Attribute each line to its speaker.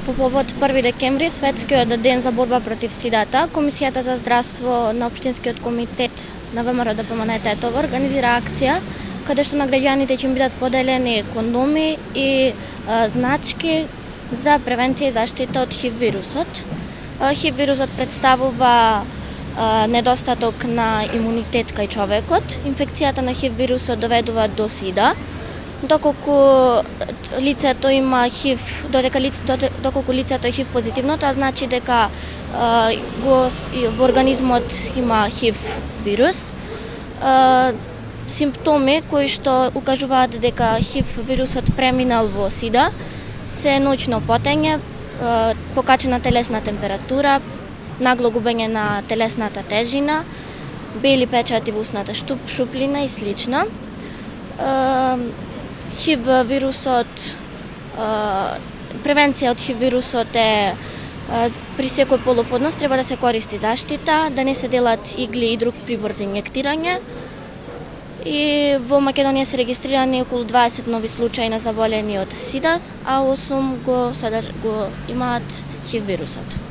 Speaker 1: По повод 1 декември, светскиот ден за борба против сидата, Комисијата за здравство на Општинскиот комитет на ВМРО ДПМН Тетово организира акција каде што на граѓаните ќе им бидат поделени кондоми и значки за превенција и заштита од ХИВ вирусот. ХИВ вирусот представува недостаток на имунитет кај човекот. Инфекцијата на ХИВ вирусот доведува до сида. Доколку лицето има ХИВ, доколку лицето е ХИВ позитивно, тоа значи дека во организмот има ХИВ вирус. Симптоми кои што укажуваат дека ХИВ вирусот преминал во сида се ноќно потење, покачена телесна температура, нагло губење на телесната тежина, бели печати во усната шуплина и слично. ХИВ вирусот, превенција од ХИВ вирусот е при секој полуфодност треба да се користи заштита, да не се делат игли и друг прибор за инјектирање. И во Македонија се регистрирани околу 20 нови случаи на заболени од сида, а 8 го имаат ХИВ вирусот.